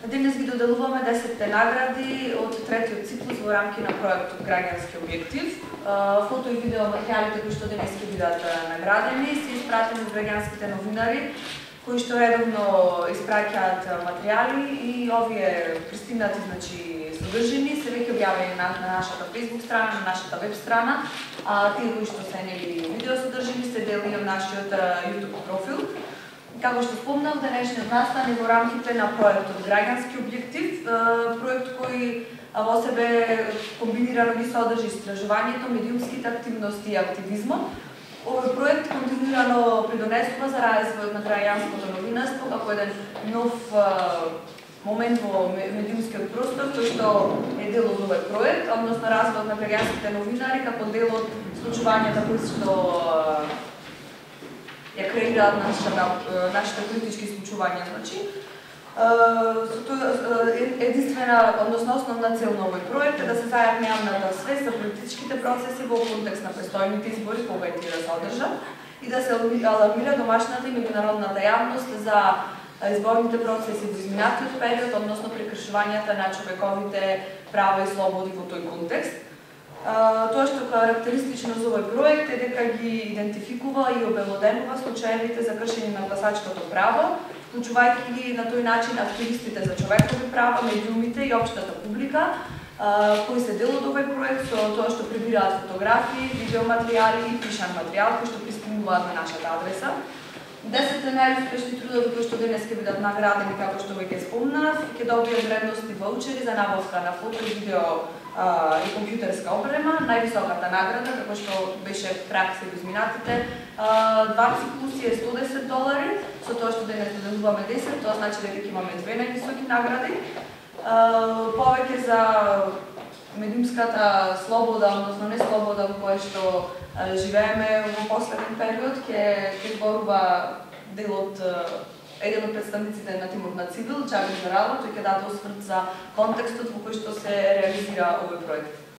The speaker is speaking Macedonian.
Денес ги доделуваме 10 награди од третиот циклус во рамки на проектот Граѓански објектив. Фото и видео материјалите кои што денес ќе бидат наградени се испратени од граѓанските новинари кои што редовно испраќаат материјали и овие пристигнати содржини се веќе објавени на нашата Facebook страна, на нашата веб страна, а тие кои што се нели видео содржини се дели од нашиот YouTube профил. Како што спомнав, денешниот настан е во рамките на проектот Граѓански објектив, проект кој во себе комбинирано ги содржи истражувањето, медиумските активности и активизмот. Овој проект континуирано придонесува за развојот на граѓанското новинарство како еден нов момент во медиумскиот простор, кој што е дел од овој проект, односно развојот на граѓанските новинари како дел од случувањата кои што ја креираат нашите политички случувања. Единствена, односно основна цел на овој проект е да се зајакне јавната свест за политичките процеси во контекст на престојните избори кога тие да се одржат и да се алармира домашната и меѓународната јавност за изборните процеси во изминатиот период, односно прекршувањата на човековите права и слободи во тој контекст. Тоа што карактеристично за овој проект е дека ги идентификува и обелоденува случаевите за кршење на гласачкото право, вклучувајќи ги на тој начин активистите за човекови права, медиумите и општата публика, кои се дел од овој проект со тоа што прибираат фотографии, видеоматеријали и пишан материјал кои што пристигнуваат на нашата адреса. 10 најуспешни трудови кои што денес ќе бидат наградени, како што веќе спомнав, ќе добијат вредности ваучери за набавка на фото и видео и компјутерска опрема. Највисоката награда, како што беше пракса во изминатите 2 циклуси е $110. Со тоа што денес доделуваме 10, тоа значи дека имаме две највисоки награди. Повеќе за медиумската слобода, односно не слобода во која што живееме во последен период, ќе зборува еден од представниците на тимот на Цивил, Чавин Зарало, тој ќе даде осврт за контекстот во кој што се реализира овој проект.